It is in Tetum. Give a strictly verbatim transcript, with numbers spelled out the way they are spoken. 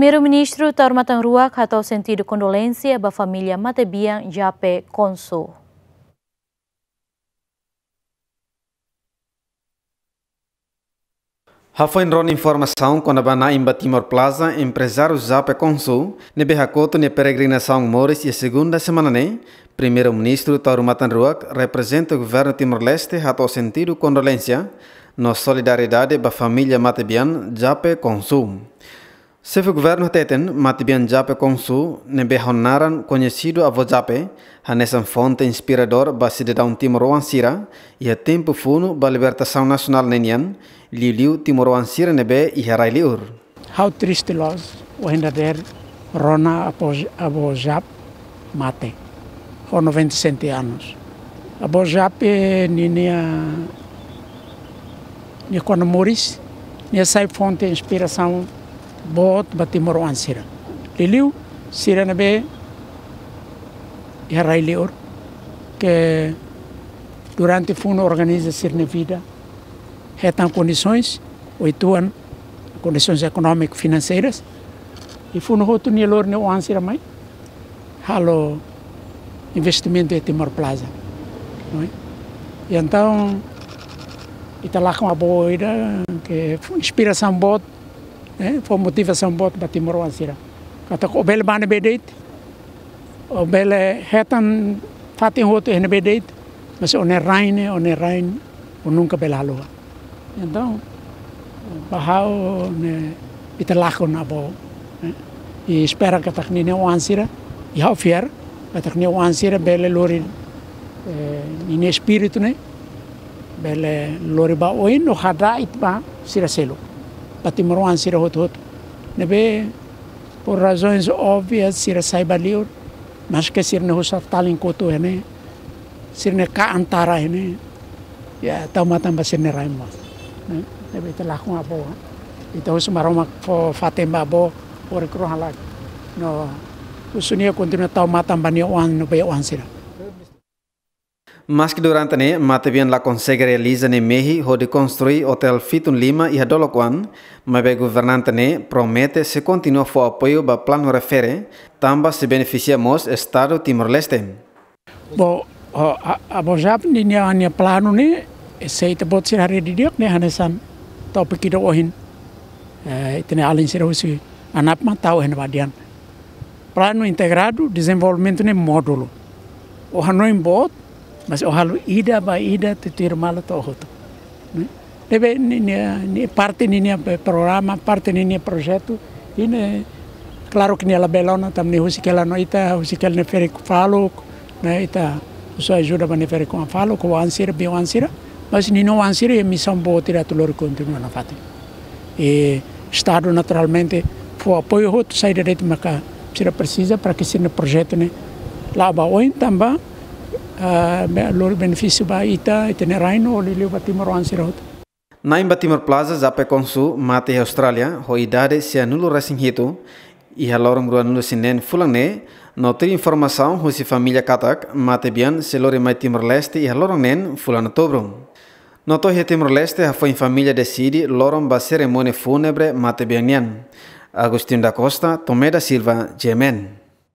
Primeiru-Ministru Taur Matan Ruak hato'o sentidu kondolénsia ba família matebian Jape Konsu. Hafoin rona informasaun kona-ba na'in ba Timor Plaza, emprezáriu Jape Konsu ne'ebé hakotu nia peregrinasaun moris iha segunda semana ne'e, Primeiru-Ministru Taur Matan Ruak, reprezenta governu Timor-Leste, hato'o sentidu kondolénsia no solidariedade ba família matebian Jape Konsu. Xefe governu hateten, matebian Jape Konsu ne'ebé ho naran koñesidu Avó Jape, hanesan fonte inspiradór ba sidadaun timoroan sira iha tempu funu ba libertasaun nasionál ne'e nian, liuliu timoroan sira ne'ebé iha rai-li'ur. Ha'u triste loos, ohin dadeer rona Avó, Avó Jape mate, ho noventa e sete anos. Avó Jape ninia, nia kona moris, nia sai fonte inspirasaun boot ba timoroan sira. Liuliu sira ne'ebé iha rai-li'ur, ke durante funu organiza sira-nia vida, hetan kondisoens, oituan, kondisoens ekonómiku finanseiras, i funu hotu nia lori nia oan sira mai halo investimentu iha Timor Plaza, não é? I entaun, ita lakon avó ida ke fó inspirasaun boot, eh, fó motivasaun boot ba timoroan sira. Katak ó bele bá ne'ebé de'it, ó bele hetan fatin hotu iha ne'ebé de'it, mas ó-nia rain ne'e, ó-nia rain, ó nunka bele haluha. Entaun, ba ha'u ne'e, ita lakon avó, eh, i espera katak ninia oan sira, i ha'u fiar katak nia oan sira bele lori, eh, ninia espíritu ne'e, bele lori ba oin no hada'et ba sira seluk, ba timoroan sira hotu-hotu ne'ebé, por razões óbvias, sira sai ba li'ur, maske sira-nia husi talin kotu iha ne'e, sira-nia ka'an tara iha ne'e, ya, tau matan ba sira-nia rain mós, ne'e? Ne'ebé ita lakon avó, ita husu Maromak fó fatin ba avó, hori krohan lagi, no husu nia kontinua tau matan ba nia oan no ba oan sira. Maske durante ne'e, matebian la konsege realiza nia mehi hodi konstrui otél Fitun Lima iha dolok oan, maibé governante ne'e promete sei kontinua fó apoiu ba planu refere, tanba sei benefisia mós Estadu Timor-Leste. Bom, ó, a, Avó Jape ninia, nia planu ne'e, se ita-boot sira haree didi'ak ne'e hanesan tópiku ida ohin, eh, ita-nia alin sira husi ANAP mak tau iha ne'ebá dehan. Planu integradu dezenvolvimentu ne'e módulu. Ó hanoin boot, mas ó halo ida ba ida, tutuir malu to'o hotu. Ne'e? Ne'ebé ni, ni, ni parte ninia programa, parte ninia projetu, i ne'e, klaru ke nia labele ona, tanba nia husik hela no ita, husik hela nia ferik faluk, ne'e, ita husu ajuda ba nia ferik-oan faluk, oan sira, bei-oan sira, mas ninia oan sira iha misaun boot ida atu lori kontinua nafatin. I Estadu naturalmente fó apoiu hotu saida de'it maka sira presiza para ke sira-nia projetu ne'e la'o ba oin tanba, ah, be-, lori benefísiu ba ita, ita-nia rain no liuliu ba timoroan sira hotu. Na'in ba Timor Plaza, Jape Konsu, mate iha Austrália, ho idade sianulu-resin-hitu, iha loron ruanulu-resin-neen fulan ne'e, no tuir informasaun husi família katak, matebian sei lori mai Timor-Leste iha loron neen fulan Outubru. No to'o iha Timor-Leste hafoin família deside loron ba serimónia fúnebre matebian nian. Agostinho da Costa, Tomé da Silva, G M N.